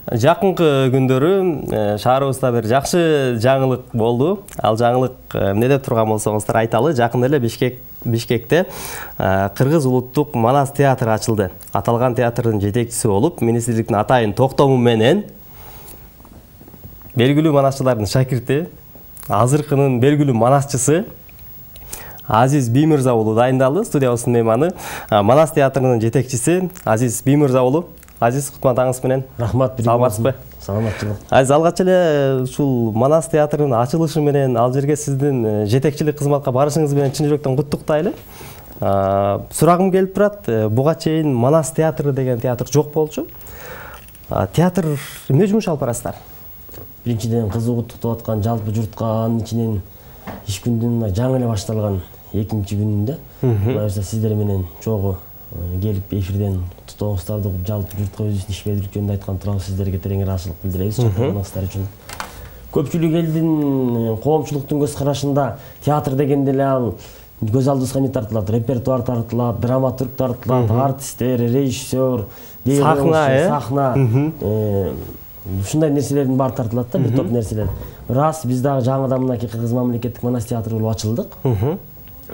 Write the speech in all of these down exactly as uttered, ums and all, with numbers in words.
Жакынкы күндөрү шаарыбызда бир жакшы жаңылык болду. Ал жаңылык эмне деп турган болсоңуздар айталы. Жакында эле Бишкек Бишкекте Кыргыз улуттук Манас театры ачылды. Аталган театрдын жетекчиси болуп, министрликтин атайын токтому менен белгилүү манасчылардын шакирти, азыркынын белгилүү манасчысы Азиз Биймырза уулу дайындалды. Студиябыздын мейманы Манас театрынын жетекчиси Азиз Биймырза уулу. Азиз, кутмандаңыз менен. Рахмат, саламатсызбы? Саламатчылык. Азиз, алгач эле ушул Манас театрынын ачылышы менен ал жерге сиздин жетекчилик кызматка барышыңыз менен чын жүрөктөн куттуктайлы. Сурагым келип турат. Буга чейин Манас театры деген театр жок болчу. Театр эмне жумуш алып барасыздар? Биринчиден кызыгуу куттуктап аткан жалпы журтка анын ичинен иш күндүн жаңы эле башталган экинчи күнүндө мына сиздер менен чогуу келип эфирден куттуктооңуздарды угуп жалпы журтка өзүбүздүн ишмердүүлүк жөнүндө айткан туурабыз. Сиздерге терең ыраазычылык билдиребиз. Чакырганыңыздар үчүн. Көпчүлүк элдин коомчулуктун көз карашында театр дегенде эле ал көз алдыбызга эмне тартылат? Репертуар тартылат, драматург тартылат, артисттер, режиссер, сахна, э? Сахна. Ушундай нерселердин баары тартылат да, бир топ нерселер. Рас, биз дагы жаңыдан мынакей Кыргыз мамлекеттик Манас театры болуп ачылдык.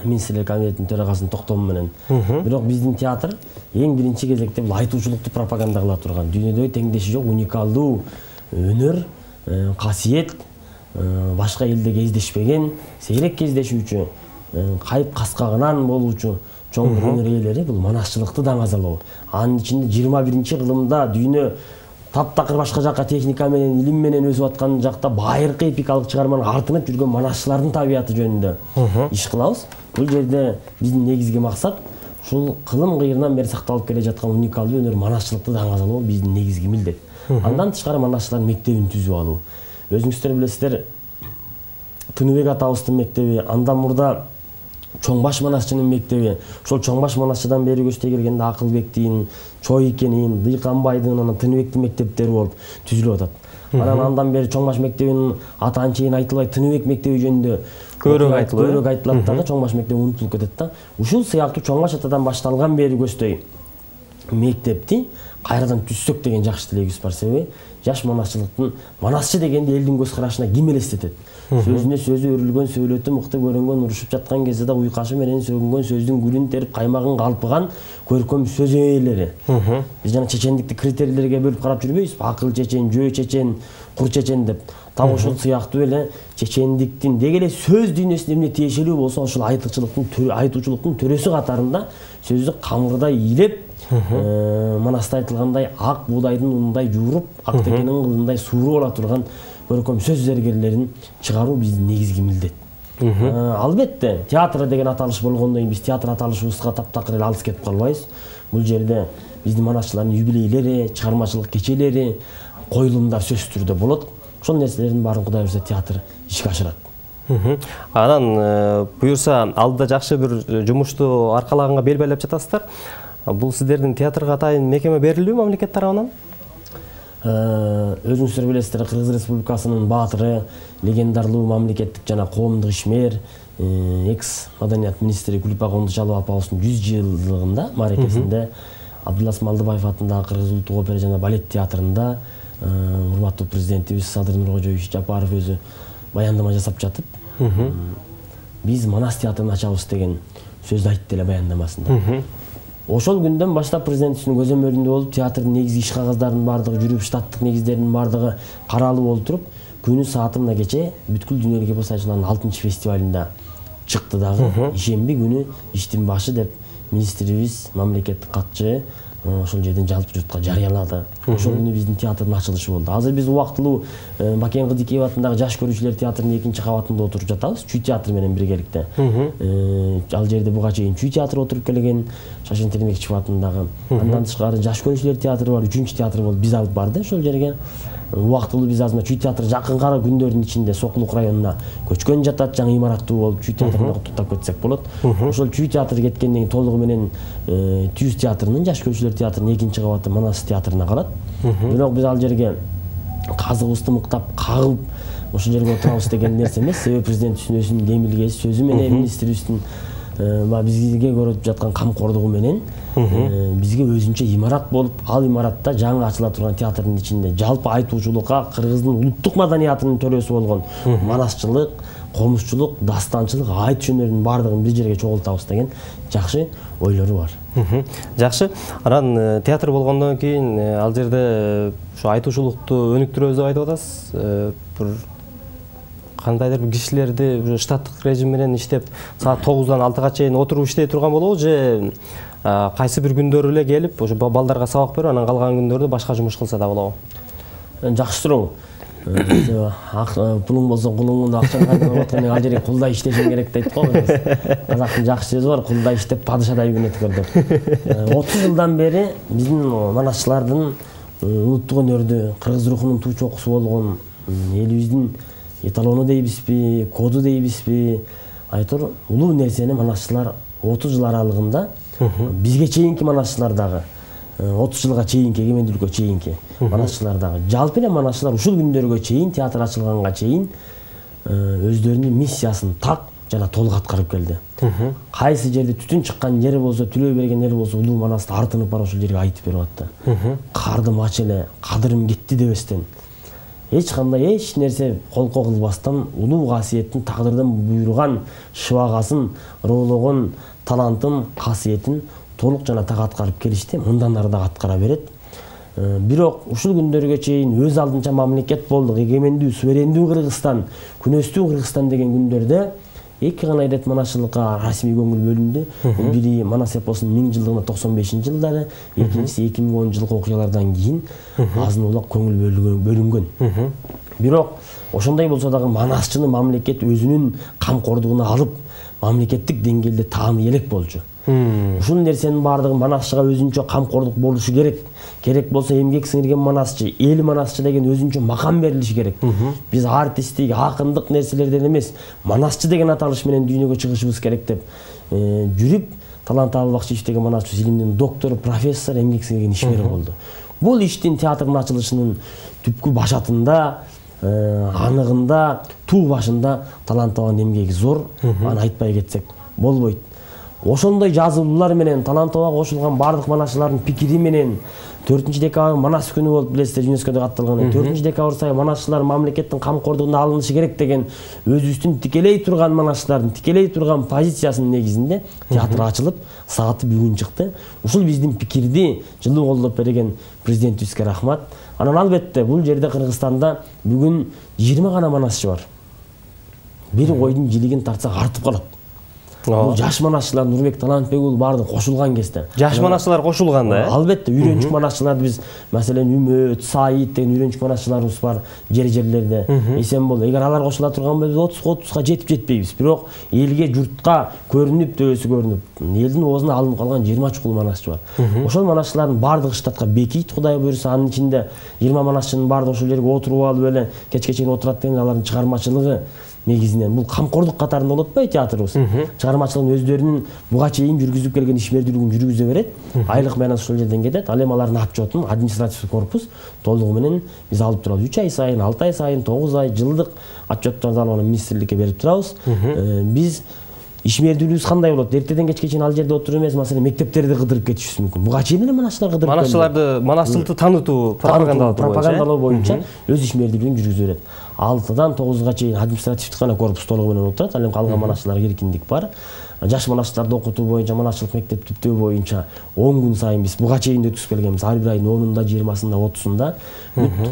Министрлер комитетинин төрагасынын токтому менен. Бирок биздин театр эң биринчи кезекте бул айтуучулукту пропаганда кыла турган, дүйнөдө теңдеши жок уникалдуу өнөр, касиет, башка элде кездешпеген, сейрек кездешүүчү, кайып каскагынан болуучу чоң өнөр ээлери бул манасчылыкты даңазалоо. Анын ичинде жыйырма биринчи кылымда дүйнө таптакыр башка жакка техника менен, илим менен өсүп аткан жакта байыркы эпикалык чыгарманын артынып жүргөн манасчылардын табияты жөнүндө иш кылабыз. Бул жерде биздин негизги максат ушул кылым кыйырынан бери сакталып келе жаткан уникалдуу өнөр манасчылыкты даңазалоо биздин негизги милдет. Андан тышкары манасчылар мектебин түзүп алуу. Өзүңүздөр билесиздер, Тыныбек атабыздын мектеби, андан мурда Чоңбаш манасчынын мектеби, ошол Чоңбаш манасчыдан бери көчтөй келгенде Акылбектин, Чойкенин, Дыйканбайдын, анан Тыныбектин мектептери болуп түзүлүп атат. Анан андан бери Чоңбаш мектебинин аты анчейин айтылбай, Тыныбек мектеби жөнүндө көрөк айтылат. Көрөк айтылат дагы, Чоңбаш мектеби унутулуп кетет да. Ушул сыяктуу Чоңбаш атадан башталган бери көчтөй мектепти кайрадан түзсөк деген жакшы тилегибиз бар. Себеби жаш манасчылыктын, манасчы дегенде элдин көз карашына ким элестетет? Сөзүнө сөзү өрүлгөн, сөйлөтү мыкты көрөнгөн, урушуп жаткан кезде да уйкашы менен сөгүнгөн, сөздүн гүлүн терип, каймагын калпыган көркөм сөз ээлери. Биз жана чечендикти критерийлерге бөлүп карап жүрбөйбүзбү? Акыл чечен, жөө чечен, кур чечен деп. Так ошол сыяктуу эле чечендиктин деги эле сөз дүйнөсүнө эмне тиешелүү болсо, ошол айтуучулуктун, айтуучулуктун төрөсү катарында сөздү камырдай илеп, Манаста айтылгандай ак буудайдын унундай жууруп, ак текенин кылындай сууруп ала турган көркөм сөз зергерлерин чыгаруу биздин негизги милдет. Албетте, театр деген аталыш болгондон кийин биз театр аталышыбызга таптакыр эле алыс кетип калбайбыз. Бул жерде биздин манасчылардын юбилейлери, чыгармачылык кечелери, коюлумдар сөзсүз түрдө болот. Ошол нерселердин баарын Кудай буйрса театр ишке ашырат. Анан буюрса алдыда жакшы бир жумушту аркалаганга бел байлап жатасыздар. Бул сиздердин театрга атайын мекеме берилүү мамлекет тарабынан? Өзүңүздөр билесиздер, Кыргыз Республикасынын баатыры, легендарлуу мамлекеттик жана коомдук ишмер, экс маданият министри Гүлпа Кондучалова апабыздын жүз жылдыгында мааракесинде Абдулас Малдыбаев атындагы Кыргыз улуттук опера жана балет театрында урматтуу президентибиз Садыр Нуркожоевич Жапаров өзү баяндама жасап жатып, биз Манас театрын ачабыз деген сөздү айтты эле баяндамасында. Ошол күндөн баштап президентибиздин көзөмөлүндө болуп, театрдын негизги иш кагаздарынын бардыгы жүрүп, штаттык негиздеринин бардыгы каралып олтуруп, күнү сааты мына кече бүткүл дүйнөлүк эпос ачылган алтынчы фестивалында чыкты дагы. Ишемби күнү иштин башы деп министрибиз, мамлекеттик катчы ошол жерден жалпы журтка жарыялады. Ошол күнү биздин театрдын ачылышы болду. Азыр биз убактылуу Бакен Кыдыкеев атындагы жаш көрүүчүлөр театрынын экинчи кабатында отуруп жатабыз, Чүй театры менен биргеликте. Ал жерде буга чейин Чүй театры отуруп келген, Шашын Термекчиев атындагы. Андан тышкары жаш көрүүчүлөр театры бар, үчүнчү театр болуп биз алып барды ошол жерге. Убактылуу биз азыр Чүй театры жакынкы күндөрдүн ичинде Сокулук районуна көчкөн жатат, жаңы имараттуу болуп Чүй театрына куттуктап кетсек болот. Ошол Чүй театры кеткенден кийин толугу менен Түз театрынын, жаш көрүүчүлөр театрынын экинчи кабаты Манас театрына калат. Бирок биз ал жерге казыгыбызды мыктап кагып ошол жерге отурабыз деген нерсе эмес. Себеби президентибиздин өзүнүн демилгеси сөзү менен министрибиздин бизге көрүп жаткан камкордугу менен бизге өзүнчө имарат болуп, ал имаратта жаңы ачыла турган театрдын ичинде жалпы айтуучулукка кыргыздын улуттук маданиятынын төрөсү болгон манасчылык, комузчулук, дастанчылык, айтыш өнөрүнүн баардыгын бир жерге чогултабыз деген жакшы ойлору бар. Жакшы. Анан театр болгондон кийин ал жерде ушу айтуучулукту өнүктүрөбүз деп айтып атасыз. Бир кандайдыр бир кишилерди уже штаттык режим менен иштеп, саат тогуздан алтыга чейин отуруп иштей турган болобу же кайсы бир күндөрү эле келип, ошо балдарга сабак берип, анан калган күндөрдө башка жумуш кылса да болобу? Жакшы суроо. Пулуң болсо кулуңун, акчаны кайдан алып ал жерге кулдай иштешиң керек дейт го. Казактын жакшы сөзү бар, кулдай иштеп падышадай күн өткөр деп. отуз жылдан бери биздин манасчылардын улуттук өнөрдү, кыргыз рухунун туу чокусу болгон элибиздин эталону дейбизби, коду дейбизби, айтор улуу нерсени манасчылар отуз жыл аралыгында бизге чейинки манасчылар дагы отуз жылга чейинки, эгемендүүлүккө чейинки манасчылар дагы жалпы эле манасчылар ушул күндөргө чейин, театр ачылганга чейин өздөрүнүн миссиясын так жана толук аткарып келди. Кайсы жерде түтүн чыккан жери болсо, түлөө берген жери болсо, улуу манасты артынып барып ошол жерге айтып берип атты. Кардым ач эле, кадырым кетти дебестен. Эч кандай эч нерсе колко кылбастан улуу касиеттин, тагдырдын буйруган шыбагасын, роологон талантын, касиетин толук жана так аткарып келишти. Мындан ары да аткара берет. Бирок ушул күндөргө чейин өз алдынча мамлекет болдук, эгемендүү, суверендүү Кыргызстан, күнөстүү Кыргызстан деген күндөрдө эки гана ирет манасчылыкка расмий көңүл бөлүндү. Бири Манас эпосунун миң жылдыгына токсон бешинчи жылдары, экинчиси эки миң онунчу жылкы окуялардан кийин азын улак көңүл бөлүнгөн. Бирок ошондой болсо дагы манасчыны мамлекет өзүнүн камкордугуна алып, мамлекеттик деңгээлде тааны элек болчу. Ушул нерсенин баардыгы манасчыга өзүнчө камкордук болушу керек. Керек болсо эмгек сиңирген манасчы, эл манасчы деген өзүнчө макам берилиши керек. Биз артисттик, акындык нерселерден эмес, манасчы деген аталыш менен дүйнөгө чыгышыбыз керек деп жүрүп, Талант Абылбакчиев деген манасчы илимдин доктору, профессор, эмгек сиңирген ишмер болду. Бул иштин театрдын ачылышынын түпкү башатында, аныгында, туу башында таланттаган эмгеги зор, аны айтпай кетсек болбойт. Ошондой жазылуулар менен талантыбага кошулган бардык манасчылардын пикири менен төртүнчү декабрь манас күнү болуп билесиздер, ЮНЕСКОдо катталган. төртүнчү декабрь сайын манасчылар мамлекеттин камкордугуна алынышы керек деген өзүбүздүн тикелей турган манасчылардын тикелей турган позициясынын негизинде театр ачылып, сааты бүгүн чыкты. Ушул биздин пикирди жылуу колдоп берген президентибизге рахмат. Анан албетте бул жерде Кыргызстанда бүгүн жыйырма гана манасчы бар. Бир койдун жилигин тартсак артып калат. Бул жаш манасчылар Нурбек Талантбек уулу баардыгы кошулган кезде. Жаш манасчылар кошулган да, э? Албетте, үйрөнчүк манасчыларды биз, маселен, Үмөт, Саид деген үйрөнчүк манасчыларыбыз бар жер-жерлерде. Эсен бол. Эгер алар кошула турган болсо отузга отузга жетип жетпейбиз. Бирок элге, журтка көрүнүп, төбөсү көрүнүп, элдин оозуна алынып калган жыйырма чукул манасчы бар. Ошол манасчылардын баардыгы штатка бекийт, Кудай буйруса, анын ичинде жыйырма манасчынын баардыгы ошол жерге отуруп алып эле кечке чейин отурат деген алардын чыгармачылыгы негизинен бул камкордук катарында болот отпайбы театрыбыз? Чыгармачылыгын өздөрүнүн буга чейин жүргүзүп келген ишмердүүлүгүн жүргүзө берет. Айлык менен ошол жерден кетет. Ал эми алардын отчетун административдик корпус толугу менен биз алып турабыз. үч ай сайын, алты ай сайын, тогуз ай, жылдык отчетторду алып аны министрликке берип турабыз. Биз ишмердүүлүгүбүз кандай болот? Эртеден кечке чейин ал жерде отуруп эмес, маселен, мектептерди кыдырып кетишибиз мүмкүн. Буга чейин эле манасчылар кыдырып келди. Манасчыларды, манасчылыкты таанытуу, пропагандалоо боюнча өз ишмердүүлүгүн жүргүзө берет. алтыдан тогузга чейин административдик гана корпус толугу менен отурат. Ал эми калган манасчыларга эркиндик бар. Жаш манасчыларды окутуу боюнча, манасчылык мектеп түптөө боюнча он күн сайын биз буга чейин өткүзүп келгенбиз. Ар бир айдын онунда, жыйырмасында, отузунда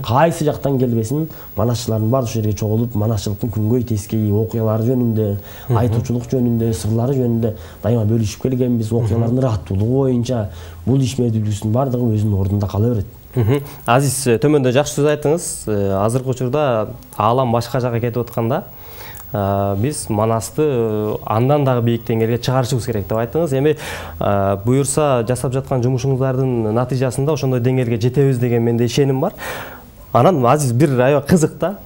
кайсы жактан келбесин манасчылардын баары ушул жерге чогулуп, манасчылыктын күнгөй тескейи, окуялары жөнүндө, айтуучулук жөнүндө, сырлары жөнүндө дайыма бөлүшүп келгенбиз. Окуялардын ыраттуулугу боюнча бул ишмердүүлүгүбүздүн баардыгы өзүнүн ордунда кала берет. Азиз, төмөндө жакшы сөз айттыңыз. Азыркы учурда аалам башка жакка кетип атканда, биз манасты андан дагы бийик деңгээлге чыгарышыбыз керек деп айттыңыз. Эми буюрса жасап жаткан жумушуңуздардын натыйжасында ошондой деңгээлге жетебиз деген менде ишеним бар. Анан Азиз, бир аябай кызык да.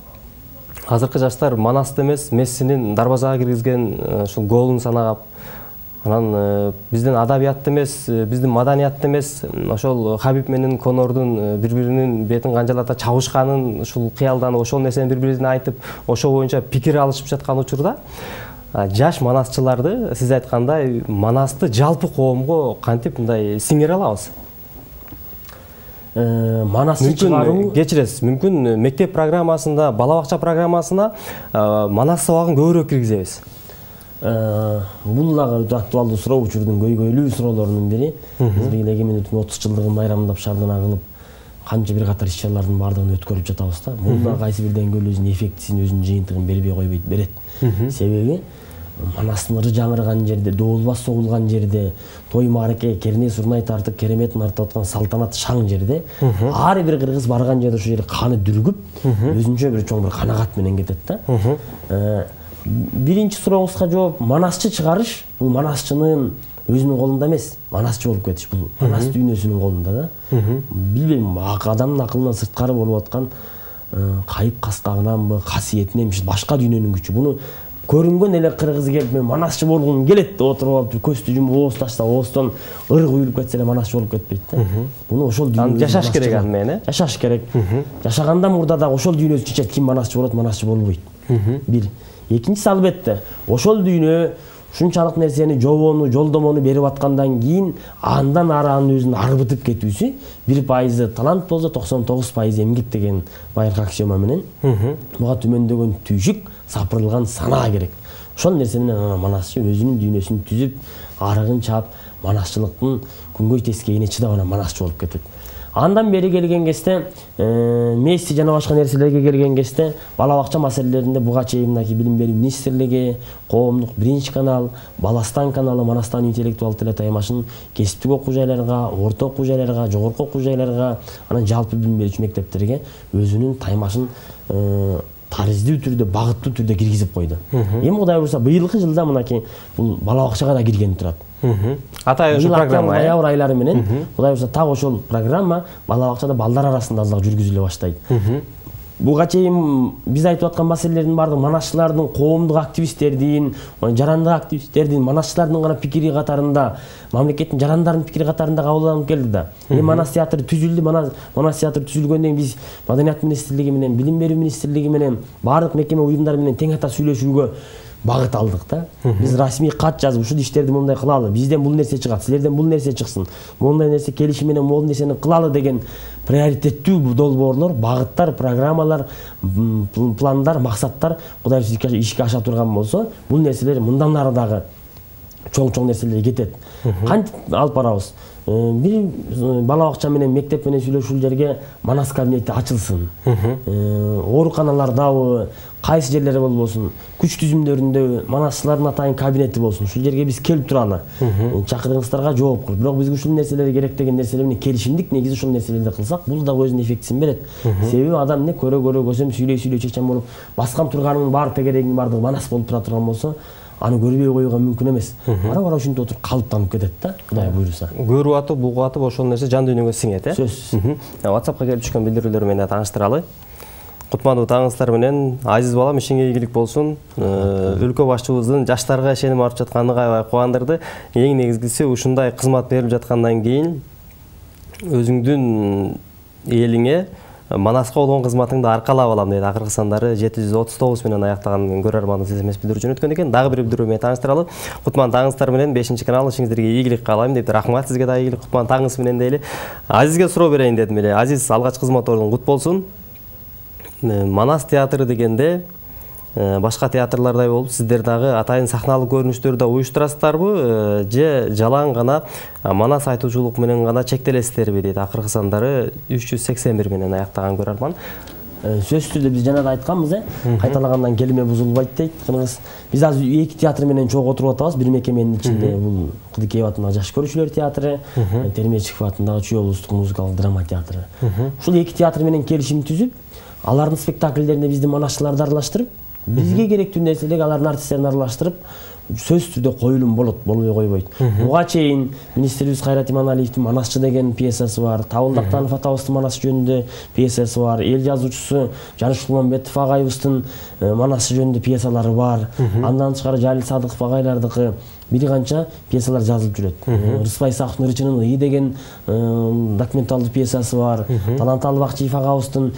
Азыркы жаштар манасты эмес, Мессинин дарбазага киргизген ушул голун санагап, анан биздин адабиятты эмес, биздин маданиятты эмес, ошол Хабиб менен Конордун бири-биринин бетин канжалата чабышканын ушул кыялданып, ошол нерсени бири-бирине айтып, ошол боюнча пикир алышып жаткан учурда жаш манасчыларды сиз айткандай манасты жалпы коомго кантип мындай сиңире алабыз? Манасты чыгаруу, кечиресиз, мүмкүн мектеп программасында, бала бакча программасына манас сабагын көбүрөөк киргизебиз. Бул дагы өтө актуалдуу суроо, учурдун көйгөйлүү суроолорунун бири. Биз быйыл эгемендиктин отуз жылдыгын байрамдап шаардана кылып, канча бир катар иш-чаралардын баардыгын өткөрүп жатабыз да. Бул да кайсы бир деңгээлде өзүнүн эффектисин, өзүнүн жыйынтыгын бербей койбойт, берет. Себеби манастын ыры жаңырган жерде, доолбас согулган жерде, той маареке, керне сурнай тартып, кереметин артып аткан салтанат шаң жерде, ар бир кыргыз барган жерде ошол жерде каны дүргүп, өзүнчө бир чоң бир канагат менен кетет да. Биринчи сурооңузга жооп, манасчы чыгарыш бул манасчынын өзүнүн колунда эмес, манасчы болуп кетиш бул манас дүйнөсүнүн колунда да. Билбейм, адамдын акылынан сырткары болуп аткан кайып каскагынанбы, касиетиненби, башка дүйнөнүн күчү. Буну көрүнгөн эле кыргыз келип, мен манасчы болгум келет деп отуруп алып, көздү жумуп ооз ташса, ооздон ыр куюлуп кетсе эле манасчы болуп кетпейт да. Буну ошол дүйнө жашаш керек аны менен, э? Жашаш керек. Жашагандан мурда дагы ошол дүйнөдү чечет, ким манасчы болот, манасчы болбойт. Бир. Экинчиси албетте, ошол дүйнө ушунчалык нерсени жобону, жолдомону берип аткандан кийин андан ары анын өзүн арбытып кетүүсү бир пайызы талант болсо, токсон тогуз пайызы эмгек деген байыркы аксиома менен буга түмөндөгөн түйшүк, сапырылган санаа керек. Ошол нерсе менен манасчы өзүнүн дүйнөсүн түзүп, арыгын чаап, манасчылыктын күнгөй тескейине чыдап анан манасчы болуп кетет. Андан бери келген кезде, Месси жана башка нерселерге келген кезде, бала бакча маселелеринде буга чейин мынакей билим берүү министрлиги, коомдук биринчи канал, Баластан каналы, Манастан интеллектуал теле таймашын кесиптик окуу жайларга, орто окуу жайларга, жогорку окуу жайларга, анан жалпы билим берүүчү мектептерге өзүнүн таймашын тариздүү түрдө, багыттуу түрдө киргизип койду. Эми Кудай буйруса быйылкы жылда мынакей бул бала бакчага да киргени турат. Атай ошол программа, ноябрь айлары менен Кудай буйруса так ошол программа бала бакчада балдар арасында азыраак жүргүзүлө баштайт. Буга чейин биз айтып аткан маселелердин баардыгы манасчылардын, коомдук активисттердин, жарандык активисттердин, манасчылардын гана пикири катарында, мамлекеттин жарандарынын пикири катарында кабыл алынып келди да. Эми манас театры түзүлдү, манас театры түзүлгөндөн кийин биз Маданият министрлиги менен, Билим берүү министрлиги менен, баардык мекеме уюмдар менен тең ата сүйлөшүүгө багыт алдык да. Биз расмий кат жазып, ушул иштерди мындай кылалы, бизден бул нерсе чыгат, силерден бул нерсе чыксын, мондай нерсе келишим менен могул нерсени кылалы деген приоритеттүү долбоорлор, багыттар, программалар, пландар, максаттар Кудай буйруса ишке аша турган болсо, бул нерселер мындан ары дагы чоң-чоң нерселер кетет. Кантип алып барабыз? Бир бала бакча менен мектеп менен сүйлөшүүлөргө манас кабинети ачылсын. Ооруканалардабы, кайсы жерлерде болбосун, күч түзүмдөрүндө манасчылардын атайын кабинети болсун. Ушул жерге биз келип туралы. Чакыргыңыздарга жооп кылып, бирок бизге ушул нерселер керек деген нерселер менен келишимдик негизи ушул нерселерди кылсак, бул дагы өзүнүн эффектисин берет. Себеби адам эмне көрө-көрө көсөм сүйлөй-сүйлөй чечен болуп, баскан турганынын баары тегерегинин баардыгы манас болуп тура турган болсо, аны көрбөй коюуга мүмкүн эмес. Бара-бара ушинтип отуруп калыптанып кетет да, Кудай буйруса. Көрүп атып, бугуп атып ошол нерсе жан дүйнөгө сиңет, э? Сөзсүз. WhatsAppка келип түшкөн билдирүүлөр менен тааныштыралы. Кутмандуу таңыңыздар менен, азиз балам, ишиңе ийгилик болсун. Өлкө башчыбыздын жаштарга ишеним арып жатканы аябай кубандырды. Эң негизгиси ушундай кызмат берип жаткандан кийин өзүңдүн элиңе манаска болгон кызматыңды аркалап алам дейт. Акыркы сандары жети жүз отуз тогуз менен аяктаган көрөрманыбыз смс билдирүүчүн өткөн экен. Дагы бир билдирүү менен тааныштыралы. Кутман таңыңыздар менен бешинчи канал ишиңиздерге ийгилик каалайм деп, рахмат сизге да ийгилик Кутман таңыңыз менен дейли. Азизге суроо берейин дедим эле. Азиз, алгач кызмат ордуң кут болсун. Манас театры дегенде башка театрлардай болуп, сиздер дагы атайын сахналык көрүнүштөрдү да уюштурасыздарбы, же жалаң гана манас айтуучулук менен гана чектелесиздерби дейт. Акыркы сандары үч жүз сексен бир менен аяктаган көрөрман. Сөзсүз түрдө биз жана да айтканбыз, э, кайталагандан келиме бузулбайт дейт. Кыргыз биз азыр эки театр менен чогуу отуруп атабыз. Бир мекеменин ичинде бул Кыдыкеев атындагы жаш көрүүчүлөр театры, Термечиков атындагы Чүй облустук музыкалык драма театры. Ушул эки театр менен келишим түзүп, алардын спектакльдерине биздин манасчыларды аралаштырып, бизге керектүү нерселерди алардын артисттерин аралаштырып, сөзсүз түрдө коюлум болот, болбой койбойт. Буга чейин министрибиз Кайрат Иманалиевдин Манасчы деген пьесасы бар, Табыл Дактанов атабыздын Манас жөнүндө пьесасы бар, эл жазуучусу Жаныш Кулмамбетов агайыбыздын Манасчы жөнүндө пьесалары бар. Андан тышкары Жалил Садыков агайлардыкы бир канча пьесалар жазылып жүрөт. Рыспай Исаковдун Ырчынын ый деген документалдуу пьесасы бар. Таланталы Бакчиев агабыздын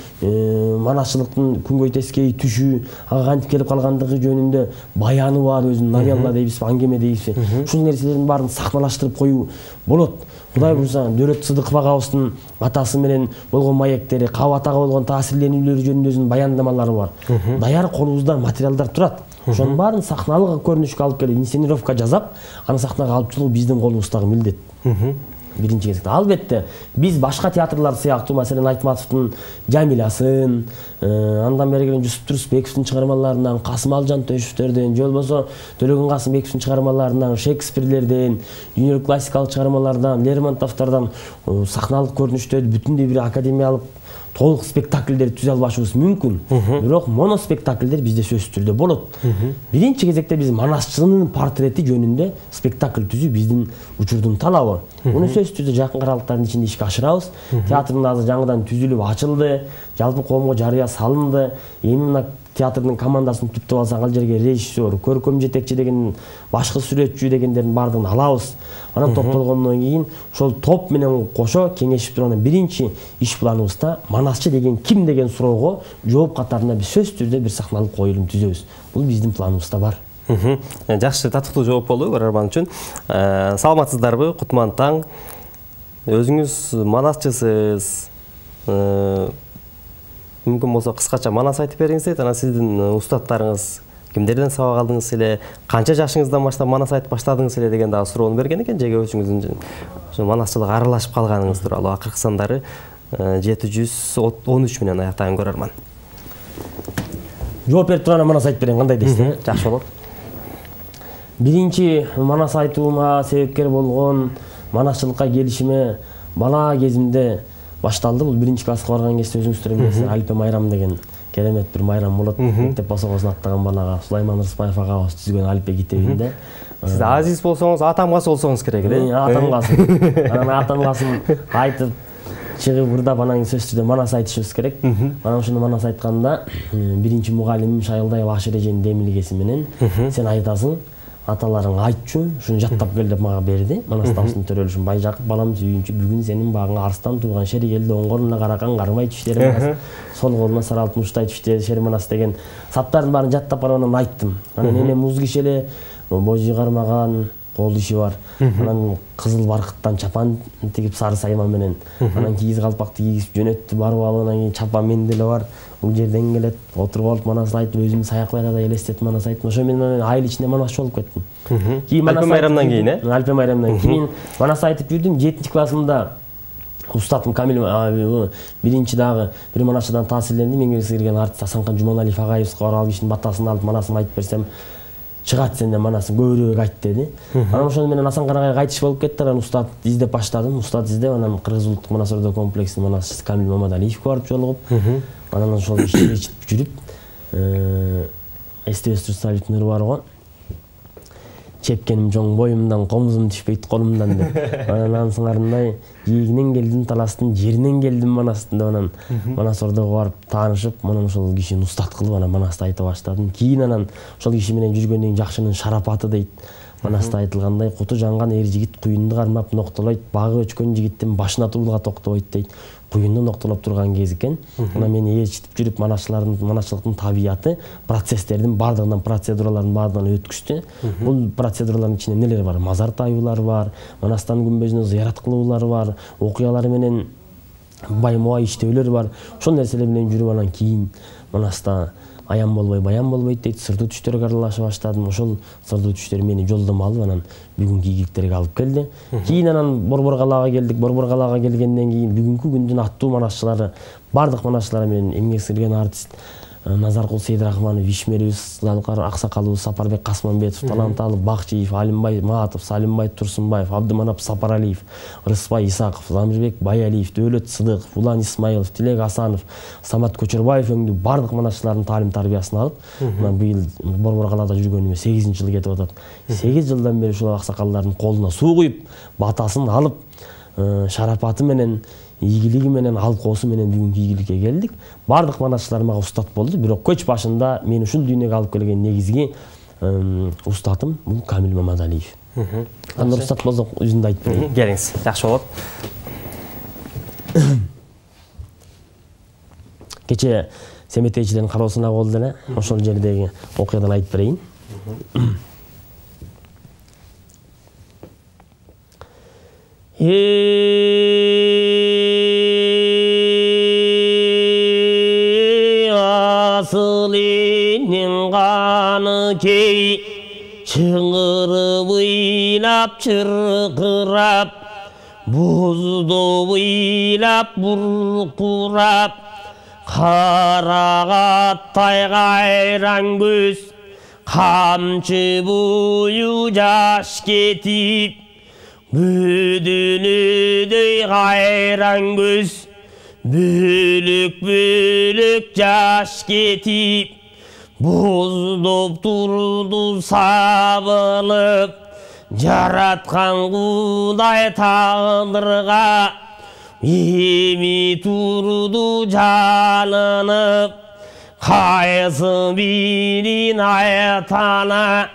манасчылыктын күнгөй тескей түшү, ага кантип келип калгандыгы жөнүндө баяны бар, өзүнүн новелла дейбизби, аңгеме дейбизби. Ушул нерселердин баарын сахналаштырып коюу болот. Кудай буйруса, Дөөлөт Сыдыков агабыздын атасы менен болгон маектери, Кабат ага болгон таасирленүүлөрү жөнүндө өзүнүн баяндамалары бар. Даяр колубузда материалдар турат. Ошонун баарын сахналык көрүнүшкө алып келип, инсценировка жасап, аны сахнага алып чыгуу биздин колубуздагы милдет. Биринчи кезекте. Албетте, биз башка театрлар сыяктуу, маселен Айтматовдун Жамилясын, андан бери келген Жусуп Турсбековдун чыгармаларынан, Касым Алжан Төшевдөрдөн, же болбосо Төлөгөн Касымбековдун чыгармаларынан, Шекспирлерден, дүйнөлүк классикалык чыгармалардан, Лермонтовдордон сахналык көрүнүштөрдү бүтүндөй бир академиялык толук спектакльдер түзө албашыбыз мүмкүн. Бирок моноспектакльдер бизде сөзсүз түрдө болот. Биринчи кезекте биз манасчынын портрети жөнүндө спектакль түзүү биздин учурдун талабы. Муну сөзсүз түрдө жакын аралыктардын ичинде ишке ашырабыз. Театрдын азыр жаңыдан түзүлүп ачылды, жалпы коомго жарыя салынды. Эми мына театрдын командасын түптөп алсак, ал жерге режиссер, көркөм жетекчи деген, башкы сүрөтчү дегендердин баардыгын алабыз. Анан топтолгондон кийин ошол топ менен кошо кеңешип турган биринчи иш планыбызда манасчы деген ким деген суроого жооп катарында биз сөзсүз түрдө бир сахналык коюлум түзөбүз. Бул биздин планыбызда бар. Жакшы, татыктуу жооп болду көрөрман үчүн. Саламатсыздарбы? Кутман таң. Өзүңүз манасчысыз. Мүмкүн болсо кыскача манас айтып бериңиз, анан сиздин устаттарыңыз кимдерден сабак алдыңыз эле, канча жашыңыздан баштап манас айтып баштадыңыз эле деген дагы суроону берген экен, жеге өзүңүздүн ошо манасчылыкка аралашып калганыңыз тууралуу. Акыркы сандары жети жүз он үч менен аяктаган көрөрман. Жооп берип турган манас айтып берейин, кандай дейсиз? Жакшы болот. Биринчи манас айтуума себепкер болгон манасчылыкка келишиме бала кезимде башталды. Бул биринчи класска барган кезде өзүңүздөр билесиздер, Алипе Майрам деген керемет бир майрам болот. Мектеп босогосун аттаган балага Сулайман Рыспаев агабыз түзгөн Алипе китебинде. Сиз азиз болсоңуз, атамгасы болсоңуз керек эле. Атамгасы. Анан атамгасын айтып чыгып ырдап, анан сөзсүз түрдө манас айтышыбыз керек. Анан ошондо манас айтканда биринчи мугалимим Шайылдаева Аширеженин демилгеси менен сен айтасың, аталарың айтчу, ушуну жаттап кел деп мага берди. Манас табыстын төрөлүшүн Байжакып балам сүйүнчү, бүгүн сенин багыңа арстан тууган шеригелди оң колуна каракан кармай түштөр манас, сол колуна сар алтын уштай түштөр шер манас деген саптардын баарын жаттап барып анан айттым. Анан эне муз киши эле божий кармаган кол иши бар. Анан кызыл баркыттан чапан тигип сары сайма менен, анан кийиз калпакты кийгизип жөнөттү, барып алып анан кийин чапан мен деле бар. Бул жерден келет, отуруп алып манас айтып, өзүмдү саякбай да элестетип манас айттым. Ошо менен айыл ичинде манасчы болуп кеттим. Алипе Майрамдан кийин, э? Алипе Майрамдан кийин манас айтып жүрдүм. жетинчи классымда устатым Камил биринчи дагы бир манасчыдан таасирленди. Меңгерге кирген артист Асанкан Жуманалиев агайыбызга барып ал кишинин батасын алып манасымды айтып берсем, чыгат сенден манасын көбүрөөк айт деди. Анан ошону менен Асанкан агайга айтыш болуп кетти. Анан устат издеп баштадым. Устат издеп, анан Кыргыз улуттук манас ордо комплексинин манасчысы Камил Мамадалиевге барып жолугуп, анан ошол ишти ичип жүрүп, эстебес Турсалиевдин ыры бар го. Чепкеним жоң боюмдан, комузум түшпөйт колумдан деп. Анан ансыңарындай ийигинен келдим таластын, жеринен келдим манастын деп анан манас ордого барып таанышып, анан ошол кишини устат кылып анан манасты айта баштадым. Кийин анан ошол киши менен жүргөндөн кийин жакшынын шарапаты дейт. Манаста айтылгандай, куту жанган эр жигит куюнду кармап ноктолойт, багы өчкөн жигиттин башына туулга токтойт дейт. Куюнду ноктолоп турган кез экен. Анан мен ээрчитип жүрүп манасчылардын, манасчылыктын табияты, процесстердин бардыгынан, процедуралардын бардыгынан өткүздү. Бул процедуралардын ичинде нелер бар? Мазар таюулар бар, манастан күмбөзүнө зыярат кылуулар бар, окуялар менен байма иштөөлөр бар. Ошол нерселер менен жүрүп анан кийин манаста аян болбой баян болбойт дейт, сырдуу түштөргө аралаша баштадым. Ошол сырдуу түштөр мени жолдомо алып анан бүгүнкү ийгиликтерге алып келди. Кийин анан Борбор калаага келдик. Борбор калаага келгенден кийин бүгүнкү күндүн аттуу манасчылары, бардык манасчылар менен эмгек сиңирген артист Назаркул Сейдрахманов, Вишмерибиз, Залкар Аксакалыбыз, Сапарбек Касманбетов, Таланталы Бакчиев, Алимбай Маатов, Салимбай Турсунбаев, Абдыманап Сапаралиев, Рыспай Исаков, Замирбек Баялиев, Дөөлөт Сыдыков, Улан Исмаилов, Тилек Асанов, Самат Көчөрбаев өңдүү бардык манасчылардын таалим тарбиясын алып, мына быйыл Борбор калаада жүргөнүмө сегизинчи жыл кетип атат. сегиз жылдан бери ушул аксакалдардын колуна суу куюп, батасын алып, шарапаты менен, ийгилиги менен, алкоосу менен бүгүнкү ийгиликке келдик. Бардык манасчылар мага устат болду, бирок көч башында мени ушул дүйнөгө алып келген негизги устатым бул Камил Мамадалиев. Анда уруксат болсо өзүндү айтып берейин. Келиңиз, жакшы болот. Кече семетейчилердин кароосуна болду эле. Ошол жердеги окуядан айтып берейин. Асыл элдин каны кей чыңырып ыйлап чыркырап, бузду ыйлап буркурап, карагаттай кайран көз, камчы бою жаш кетип, бөдөнөдөй кайран көз, бөлөк-бөлөк жаш кетип, боздоп турду сабылып, жараткан Кудай тагдырга, эми турду жалынып, кайсы бирин айтана.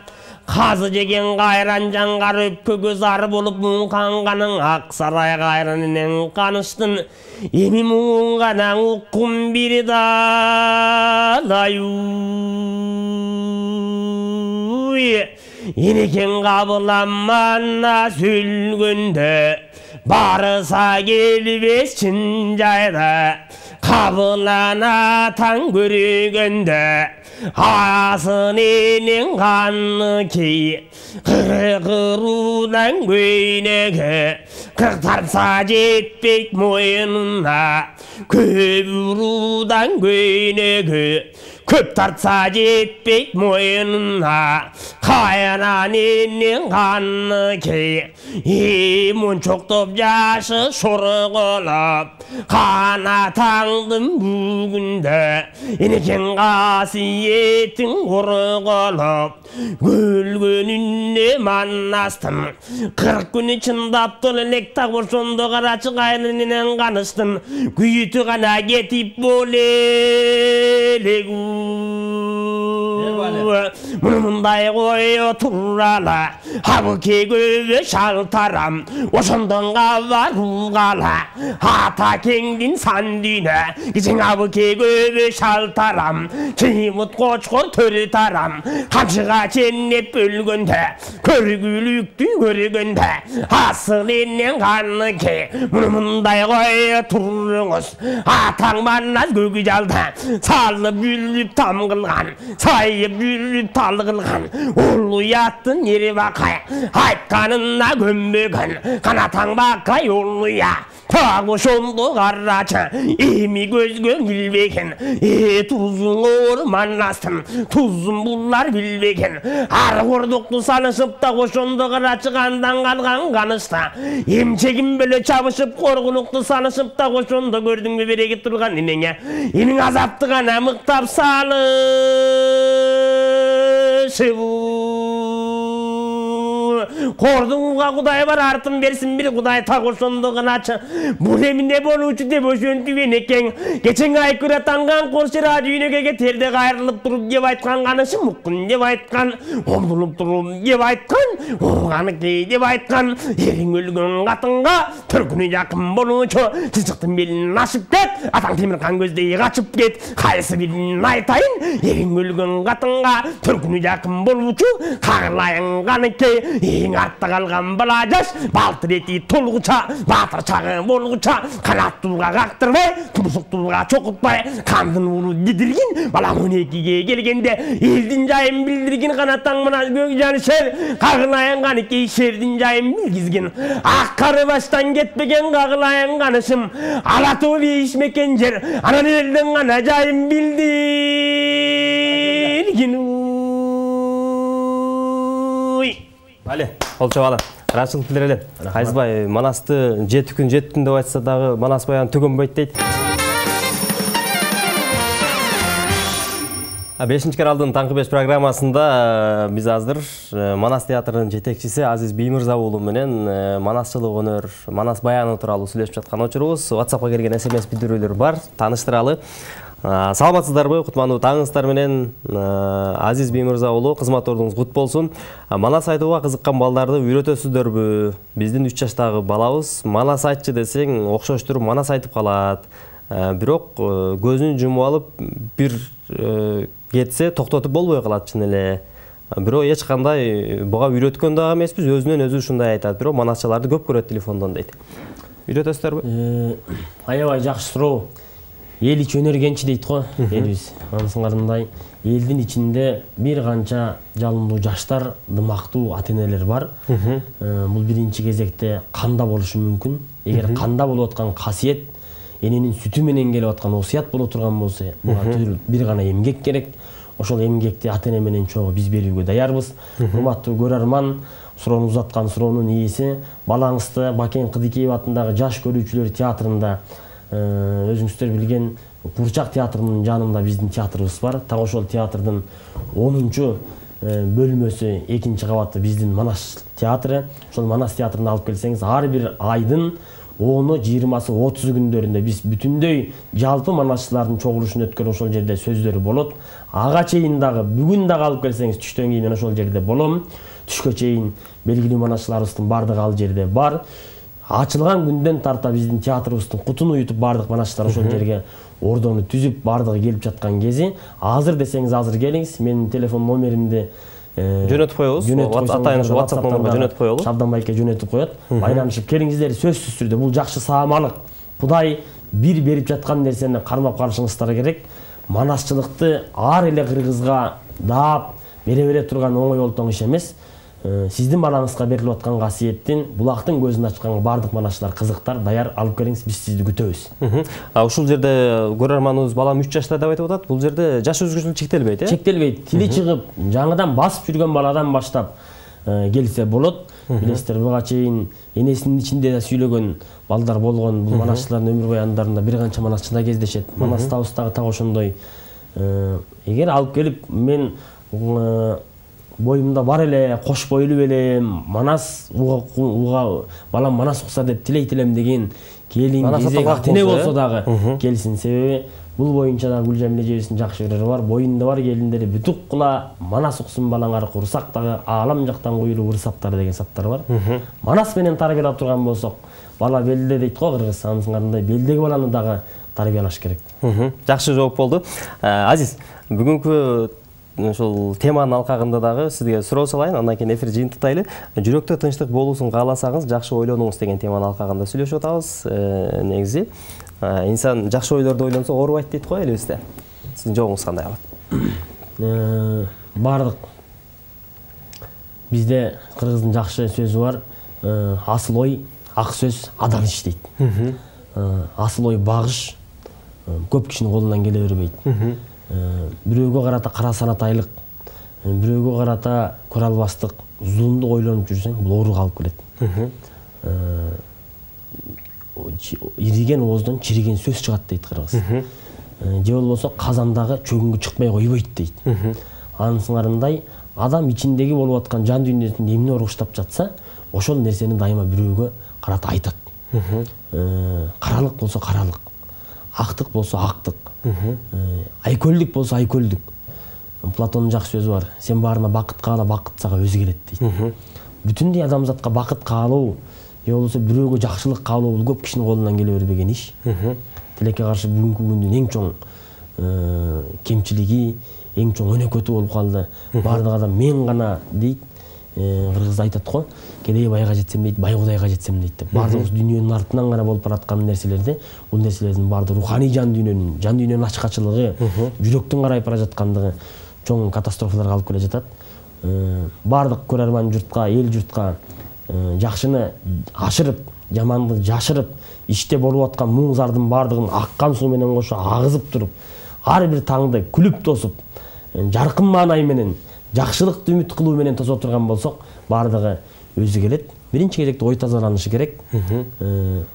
Казы жеген кайран жаңгар өпкөгө зар болуп муңканганың ак сарай кайранынан каныштын. Эми муң гана уккум бир далаю. Энекең кабыламана сүйлгөндө, барыса келбес чын жайда. Кабылана таң көргөндө, асын энең каны кей, кыркыруудан көйнөгү, кырк тартса жетпейт моюнуна, көп уруудан көйнөгү, көп тартса жетпейт моюнуна, кайынан энең каны кей, мончоктоп жашы шорголоп, канатаңдын бүгүндө, энекең касиетиң корголоп, көлгөнүнө маннастым, кырк күнү чындаптыл элек так ошондо карачы кайрынынан каныштым, күйүтү гана кетип болелегу. Муну мындай кое турала, абыке көбө шалтарам, ошондон кабаруугала, ата кеңдин сан дүйнө, кичиң абыке көбө шалтарам, чыймыт кочкор төрү тарам, камчыга ченнеп өлгөндө, көргүлүктү көргөндө, асыл энен каны ке, муну мындай кое туруңуз, атаң маннас көгү жалда, салып бүлүп там кылган, сайып бүлүп тал кылган, улуу уяттын эри бакай, айтканына көнбөгөн, канатаң бакай улуя. Так ошондо карачы, эми көзгө билбеген, э тузуң оор маннастым, тузун булар билбеген, ар кордукту санышып так ошондо карачы кандан калган канышта, эмчегин беле чабышып коргунукту санышып так ошондо көрдүңбү береги турган энеңе, энең азапты гана мыктап салышыбы. Кордуңга Кудай бар, артын берсин бир Кудай, так ошондо гыначы. Бул эми эмне болуучу деп ошентип энекең, кечең айкүрө танган коршира дүйнөгө терде кайрылып туруп деп айткан канышы муккун деп айткан, омдулуп туруп деп айткан, оганыкей деп айткан, эриң өлгөн катынга төркүнү жакын болуучу, чычыктын белин ашып кет, атаң темиркан көздөй качып кет, кайсы бирин айтайын, эриң өлгөн катынга төркүнү жакын болуучу, кагылайын каныкей, эң артта калган бала жаш, балтыр эти толгуча, баатыр чагы болгуча, канаттууга кактырбай, тумсуктууга чокутпай, кандын уулу дидиргин, бала он экиге келгенде, элдин жайын билдиргин, канаттаң мына көк жан шер, кагылайын каныкей шердин жайын билгизгин, ак кары баштан кетпеген кагылайын канышым, ала тоо бейишмекен жер, анан элдин гана жайын билдиргин. Але, болчу бала. Рашылып билер эле. Кайсыбай Манасты жети күн жеттим деп айтса дагы Манас баян түгөнбөйт дейт. бешинчи каналдын Таңкы беш программасында биз азыр Манас театрынын жетекчиси Азиз Биймырза уулу менен манасчылык өнөр, Манас баяны тууралуу сүйлөшүп жаткан учурубуз. WhatsAppка келген эс эм эс билдирүүлөр бар, тааныштыралы. Саламатсыздарбы, кутмандуу таңыңыздар менен. Азиз Биймырза уулу, кызмат ордуңуз кут болсун. Манас айтууга кызыккан балдарды үйрөтөсүздөрбү? Биздин үч жаштагы балабыз Манас айтчы десең, окшоштуруп Манас айтып калат. Бирок көзүн жумуп алып бир кетсе токтотуп болбой калат чын эле. Бирок эч кандай буга үйрөткөн дагы эмеспиз, өзүнөн өзү ушундай айтат. Бирок манасчыларды көп көрөт телефондон дейт. Үйрөтөсүздөрбү? Аябай жакшы суроо. Эл ич өнөр кенчи дейт го элибиз. Анысыңарындай элдин ичинде бир канча жалындуу жаштар, дымактуу ата-энелер бар. Бул биринчи кезекте канда болушу мүмкүн. Эгер канда болуп аткан касиет эненин сүтү менен келип аткан осуят боло турган болсо, буга бир гана эмгек керек. Ошол эмгекти ата-эне менен чогуу биз берүүгө даярбыз. Урматтуу көрөрман, суроону узаткан суроонун ээси, балаңызды Бакен Кыдыкеев атындагы Жаш көрүүчүлөр театрында, өзүңүздөр билген Курчак театрынын жанында биздин театрыбыз бар. Так ошол театрдын онунчу бөлмөсү, экинчи кабаты биздин Манас театры. Ошол Манас театрына алып келсеңиз, ар бир айдын оны жыйырмасы отузу күндөрүндө биз бүтүндөй жалпы манасчылардын чогулушун өткөрүп ошол жерде сөздөрү болот. Ага чейин дагы бүгүн дагы алып келсеңиз, түштөн кийин мен ошол жерде болом. Түшкө чейин белгилүү манасчыларыбыздын бардыгы ал жерде бар. Ачылган күндөн тарта биздин театрыбыздын кутун уютуп бардык манасчылар ошол жерге ордону түзүп бардыгы келип жаткан кези. Азыр десеңиз азыр келиңиз. Менин телефон номеримди жөнөтүп коебуз. Атайын WhatsApp номерге жөнөтүп коелу. Шабдан байке жөнөтүп коет. Байланышып келиңиздер, сөзсүз түрдө. Бул жакшы саамалык. Кудай бир берип жаткан нерсени кармап карышыңыздар керек. Манасчылыкты ар эле кыргызга даап бере бере турган оңой олтоң иш эмес. Сиздин балаңызга берилип аткан касиеттин булактын көзүн ачкан бардык манасчылар кызыктар, даяр алып келиңиз, биз сизди күтөбүз. А ушул жерде көрөрманыбыз балам үч жашта деп айтып атат. Бул жерде жаш өзгөчөлүк чектелбейт, э? Чектелбейт. Тили чыгып, жаңыдан басып жүргөн баладан баштап келсе болот. Билесиздер, буга чейин энесинин ичинде сүйлөгөн балдар болгон. Бул манасчылардын өмүр баяндарында бир канча манасчыда кездешет. Манастабыздагы так ошондой. Эгер алып келип мен боюмда бар эле, кош бойлуу эле, Манас уга балам Манас укса деп тилейт элем деген келин кезек ата-эне болсо дагы келсин. Себеби бул боюнча да Гүлжамил эжебиздин жакшы көрөрү бар. Боюнда бар келиндери бүтүк кыла Манас уксун балаңар, курсак дагы аалам жактан куюлуу ырсаптар деген саптар бар. Манас менен тарбиялап турган болсок, бала белде дейт го кыргыз. Анысыңарындай белдеги баланы дагы тарбиялаш керек. Жакшы жооп болду. Азиз, бүгүнкү ошол теманын алкагында дагы сизге суроо салайын, андан кийин эфир жыйынтыктайлы. Жүрөктө тынчтык болуусун кааласаңыз, жакшы ойлонуңуз деген теманын алкагында сүйлөшүп атабыз. Негизи инсан жакшы ойлорду ойлонсо оорубайт дейт го элибизде. Сиздин жообуңуз кандай калат? Бардык бизде кыргыздын жакшы сөзү бар. Асыл ой, ак сөз, адал иш дейт. Асыл ой багыш көп кишинин колунан келе бербейт. Бирөөгө карата кара санатайлык, бирөөгө карата көрө албастык, зулумдук ойлонуп жүрсөң, бул ооруга алып келет. Ириген ооздон чириген сөз чыгат дейт кыргыз. Же болбосо казандагы чөгүнгө чыкпай койбойт дейт. Анысыңарындай адам ичиндеги болуп аткан жан дүйнөсүндө эмне оругуштап жатса, ошол нерсени дайыма бирөөгө карата айтат. Каралык болсо каралык, актык болсо актык, айкөлдүк болсо айкөлдүк. Платондун жакшы сөзү бар. Сен баарына бакыт каала, бакыт сага өзү келет дейт. Бүтүндөй адамзатка бакыт каалоо, же болбосо бирөөгө жакшылык каалоо бул көп кишинин колунан келе бербеген иш. Тилекке каршы бүгүнкү күндүн эң чоң кемчилиги, эң чоң өнөкөтү болуп калды. Бардык адам мен гана дейт. Кыргыз айтат го, кедей байга жетсем дейт, бай Кудайга жетсем дейт деп. Бардыгыбыз дүйнөнүн артынан гана болуп бараткан нерселерди, бул нерселердин баардыгы руханий жан дүйнөнүн, жан дүйнөнүн ачкачылыгы, жүрөктүн карайып бара жаткандыгы чоң катастрофаларга алып келе жатат. Бардык көрөрман журтка, эл журтка жакшыны ашырып, жаманды жашырып, иште болуп аткан муң зардын бардыгын аккан суу менен кошо агызып туруп, ар бир таңды күлүп тосуп, жаркын маанай менен жакшылыкты үмүт кылуу менен тосо турган болсок, бардыгы өзү келет. биринчи кезекте ой тазаланышы керек.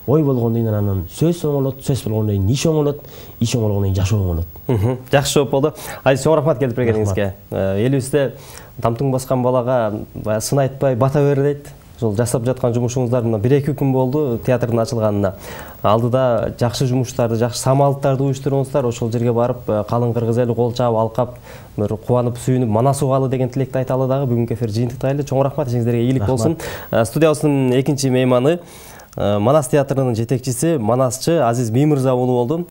Ой болгондон кийин анан сөз оңолот, сөз болгондон кийин иш оңолот, иш оңолгондон кийин жашоо оңолот. Жакшы жооп болду. Азиз, чоң рахмат келип бергениңизге. Элибизде тамтың баскан балага сын айтпай бата бер дейт. Ошол жасап жаткан жумушуңуздар мына бир эки күн болду театрдын ачылганына. Алдыда жакшы жумуштарды, жакшы самалдарды уюштуруңуздар, ошол жерге барып калың кыргыз эли кол чаап, алкап, бир кубанып, сүйүнүп, манас угалы деген тилекти айталы дагы. Бүгүнкү эфир жыйынтыктайлы. Чоң рахмат, ишиңиздерге ийгилик болсун. Студиябыздын экинчи мейманы Манас театрынын жетекчиси, манасчы Азиз Меймырза уулу болду.